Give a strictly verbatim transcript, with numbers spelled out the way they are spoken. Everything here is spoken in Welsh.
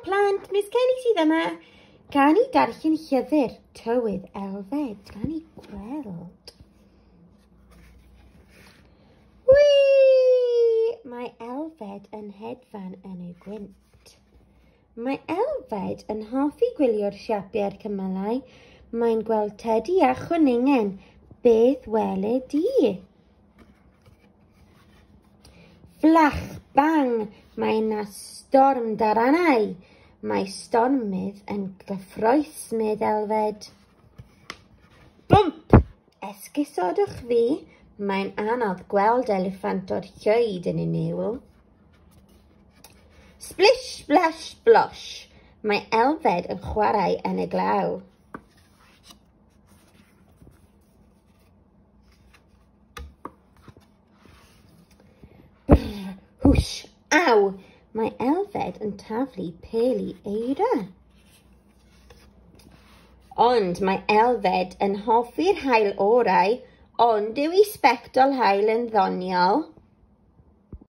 plant, Miss Kelly sydd yma. Gan i darllen llyfr Tywydd Elfed. Gan i gweld. Whee! Mae Elfed yn hedfan yn y gwynt. Mae Elfed yn hoffi gwylio'r siapiau'r cymylau. Mae'n gweld tedi a chwningen. Beth weled di? Fflach, bang! Mae yna storm daranau. Mae stormydd yn gyffrous, medd Elfed. Bwmp! Esgusodwch fi. Mae'n anodd gweld eliffantod llwyd yn y niwl. Splish, splash, splosh. Mae Elfed yn chwarae yn y glaw. Brr, hwsh, aw! Mae Elfed yn taflu peli eira. Ond mae Elfed yn hoffi'r haul orau, ond yw ei sbectol haul yn ddoniol?